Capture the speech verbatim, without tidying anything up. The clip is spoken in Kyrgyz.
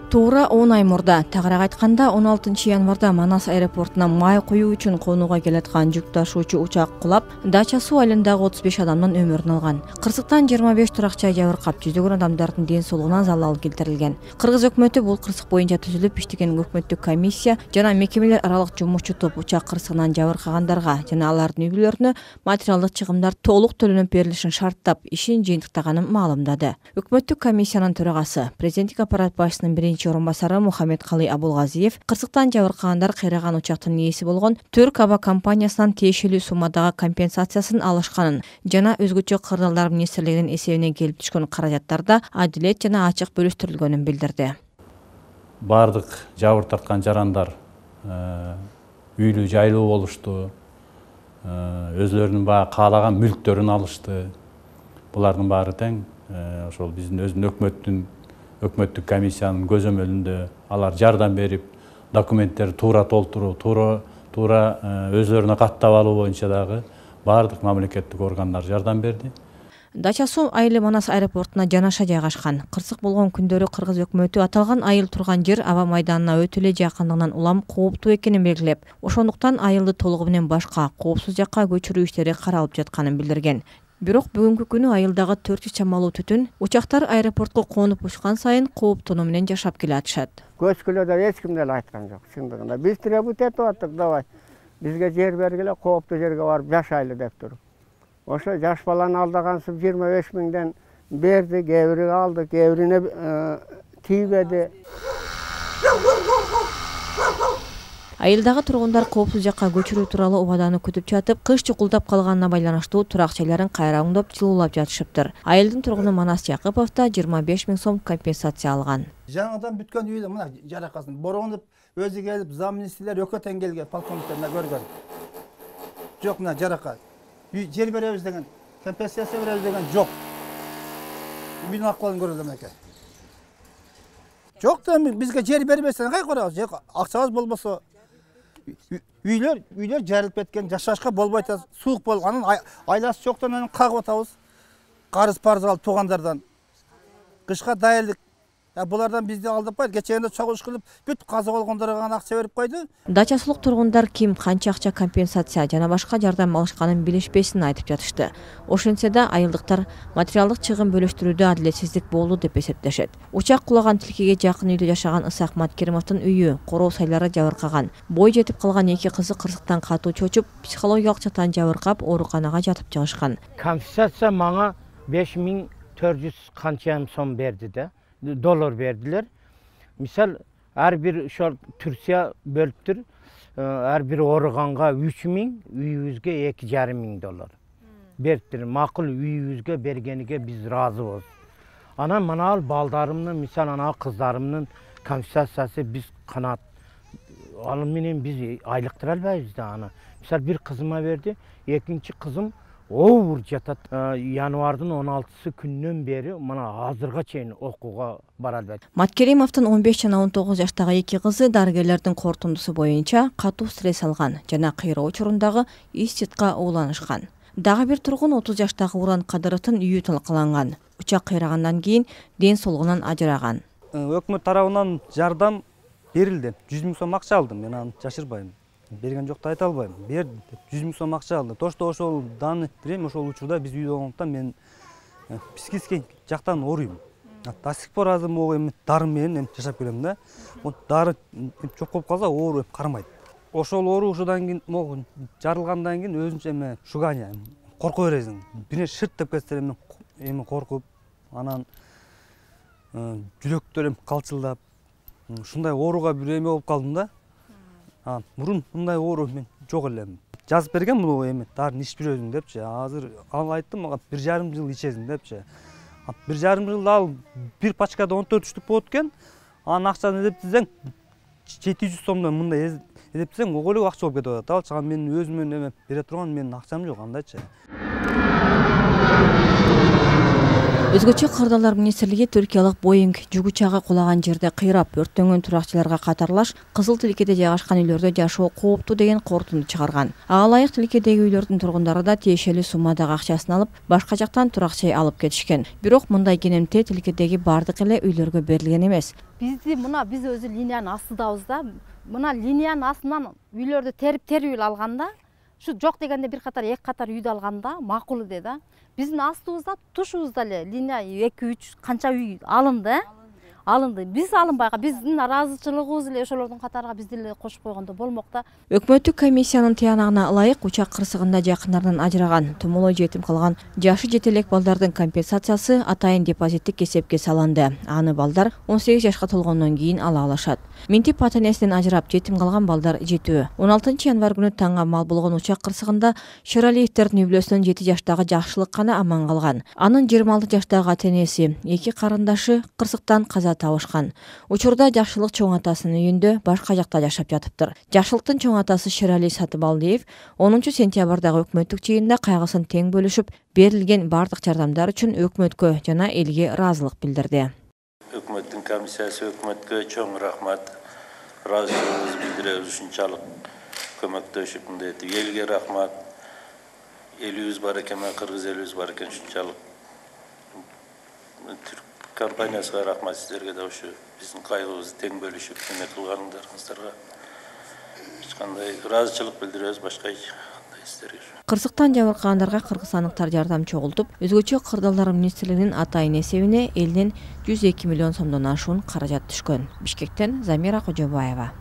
Туура он ай мурда, тагыраак айтканда он алтынчы январда Манас аэропортуна май куюу үчүн конууга келаткан жүк ташуучу учак кулап, Дача суу айылындагы отуз беш адамдын өмүрүн алган. Кырсыктан жыйырма беш туракча жабыркап, жүздөгөн адамдардын ден соолугуна залал келтирилген. Кыргыз өкмөтү бул кырсык боюнча түзүлүп иштеген өкмөттүк комиссия жана мекемелер аралык жумушчу топ учак кырсыгынан жабыркагандарга жана алардын үй бүлөлөрүнө материалдык чыгымдар толук төлөнүп берилишин шарттап, ишин жыйынтыктаганын маалымдады. Өкмөттүк комиссиянын төрагасы, президенттик аппарат башчысынын биринчи орун басары Мухаммедкалый Абулгазиев кырсыктан жабыркагандар кыйраган учактын ээси болгон Түрк аба компаниясынан тиешелүү суммадагы компенсациясын алышканын жана өзгөчө кырдаалдар министрлигинин эсебине келип түшкөн каражаттарда адилет жана ачык бөлүштүрүлгөнүн билдирди. Бардык жабыр тарткан жарандар үйлүү жайлуу болушту, өзлөрүнүн баягы каалаган мүлктөрүн алышты. Булардын баары тең ошол биздин өзүнүн өкмөттүн өкмөттүк комиссиянын көзөмөлүндө алар жардам берип, документтерди туура толтуруу, туура туура өзлөрүнө каттап алуу боюнча дагы бардык мамлекеттик органдар жардам берди. Дача суу айылы Манас аэропортуна жанаша жайгашкан. Кырсык болгон күндөрү Кыргыз өкмөтү аталган айыл турган жер аба майданына өтө эле жакындыгынан улам кооптуу экенин белгилеп, ошондуктан айылды толугу менен башка коопсуз жакка көчүрүү иштери каралып жатканын билдирген. Бирок бүгүнкү күнү айылдагы төрт жүз чамалуу түтүн учактар аэропортко конуп учкан сайын кооптонуу менен жашап келе атышат. Көчкүлөдө эч ким деле айткан жок, чындыгында. Биз требут этип аттык, давай. Бизге жер бергиле, кооптуу жерге барып жашайлы деп туруп. Ошо жаш баланы алдагансып жыйырма беш миңден берди, кээ бири алды, кээ бирине тийбеди. Айылдагы тургундар коопсуз жакка көчүрүү тууралуу убаданы күтүп жатып, кыш чукулдап калганына байланыштуу турак жайларын кайра оңдоп, жылуулап жатышыптыр. Айылдын тургуну Манас Жакыпов да жыйырма беш миң сом компенсация алган. Жаңадан бүткөн үйдө мына жаракасын бороондуп өзү келип, замминистрлер өкө тең келген, полковниктер көргөн. Жок, мына жарака. Жер беребиз деген, компенсация беребиз деген жок. Үйдүн акыбалын көрөлүм экен. Жок да бизге жер бербесең кай көрөбүз? Жок, акчабыз болбосо үйлөр үйлөр жарылып кеткен, жашашка болбойт, суук болгонун айласы жоктон анан кагып атабыз. Карыз парыз алып туугандардан. Кышка дайырлык. Булардан бизди алдап койду. Кечээндө чогулуш кылып, бүт каза болгондорго гана акча берип койду. Дачасылык тургундар ким канча акча компенсация жана башка жардам алышканын билишпесин айтып жатышты. Ошентсе да айылдыктар материалдык чыгым бөлүштүрүүдө адилетсиздик болду деп эсептешет. Учак кулаган тилкеге жакын үйдө жашаган Ысак Маткеримовдун үйү, короо сайлары жабыркаган. Бой жетип калган эки кызы кырсыктан катуу чочуп, психологиялык жактан жабыркап, ооруканага жатып жыгышкан. Компенсация мага беш миң төрт жүз канча сом берди да. Доллар бердилер. Мисал, ар бир ошол Түркия бөлүптүр. Ар бир ооруганга үч миң, үйүбүзгө эки жарым миң доллар бериптир. Макул үйүбүзгө бергениге биз ыраазыбыз. Анан мына балдарымдын, мисал ана кыздарымдын компенсациясы биз канат. Ал менен биз айлыктыра албайбыз да аны. Мисал бир кызыма берди, экинчи кызым оор жатат. Январдын он алтысы күннөн бери мына азырга чейин окууга бара албайт. Маткеримовдун он беш жана он тогуз жаштагы эки кызы дарыгерлердин корутундусу боюнча катуу стресс алган жана кыйроо учурундагы ИС-СИДКка ууланышкан. Дагы бир тургун отуз жаштагы Уран Кадыровдун үйү талкаланган. Учак кыйрагандан кийин ден соолугунан ажыраган. Өкмөт тарабынан жардам берилди. жүз миң сом акча алдым, мен аны жашырбайм. Берген жокто айта албайм. Бер жүз миң сом акча алды. Тошто ошол данный время ошол учурда биз үйдө болгондуктан мен психический жактан ооруйм. До сих пор азыр могу дары менен жашап келем да. Дары жок болуп калса оору кармайт. Ошол оорушудан кийин могу жарылгандан кийин өзүнчө эме шугания, корко бересиң. Бире шырт деп кетсе эме эме коркуп, анан жүрөктөр эм калчылдап, ушундай ооруга бир эме болуп калдым да. Мурун мындай оору мен жок элем. Жазып берген бул эме дарын ичип жүрөсүң депчи. Азыр ал айтты мага бир жарым жыл ичесиң депчи. бир жарым жылда ал бир пачкада он төрт штук болот экен. Анын акчасын эсептесең жети жүз сомдон мындай эсептесең ого эле акча болуп кетип атат. Ал чыган менин өзүмөн эме бере турган менин акчам жок андайчы. Өзгөчө кырдаалдар министрлиги Түркиялык Боинг жүк учагы кулаган жерде кыйрап өрттөнгөн туракчыларга катарлаш Кызыл Тилкеде жайгашкан үйлөрдө жашоо кооптуу деген корутунду чыгарган. Ага ылайык Тилкедеги үйлөрдүн тургундары да тиешелүү суммадагы акчасын алып, башка жактан туракчай алып кетишкен. Бирок мындай кенемте Тилкедеги бардык эле үйлөргө берилген эмес. Бизди мына биз өзү линиянын астыдабыз да. Мына линиянын астынан үйлөрдү терип-терип алганда, ушу жок дегенде бир катар, эки катар үйдү алганда макул эде да. Биздин астыбызда, тушубузда эле линия эки үч канча үй алынды. Алынды. Биз алынбай, биздин наразычылыгыбыз эле ошолордун катарына бизди эле кошуп койгондо болмок да. Өкмөттүк комиссиянын тыянагына ылайык учак кырсыгында жакындарынан ажыраган, тумулой жетим калган жашы жете элек балдардын компенсациясы атайын депозиттик эсепке салынды. Аны балдар он сегиз жашка толгондон кийин ала алышат. Минтип ата-энесинен ажырап жетим калган балдар жетүү. он алтынчы январь күнү таңга мал болгон учак кырсыгында Шыралиевдердин үй бүлөсүнөн жети жаштагы Жакшылык гана аман калган. Анын жыйырма алты жаштагы ата-энеси, эки карындашы кырсыктан каза табышкан. Учурда Жакшылык чоң атасынын үйүндө башка жакта жашап жатыптыр. Жакшылыктын чоң атасы Шырали Сатыбалдиев онунчу сентябрдагы өкмөттүк жыйында кайгысын тең бөлүшүп, берилген бардык жардамдар үчүн өкмөткө жана элге ыраазылык билдирди. Өкмөттүн комиссиясы өкмөткө чоң рахмат. Ыраазычылыгыбызды билдиребиз ушунчалык көмөктөшүп мындай элге рахмат. Элибиз бар экен, кыргыз элибиз бар экен ушунчалык. Компаниясына рахмат, сіздерге да ушу биздин кайгыбызды тең бөлүшүп эме кылганыңдарыңыздарга эч кандай ыраазычылык билдиребиз, башка эч кандай сиздерге. Кырсыктан жабыркагандарга кыргызстандыктар жардам чогултуп, өзгөчө кырдаалдар министрлигинин атайын эсебине элден жүз эки миллион сомдон ашуун каражат түшкөн. Бишкектен Замира Кожобаева.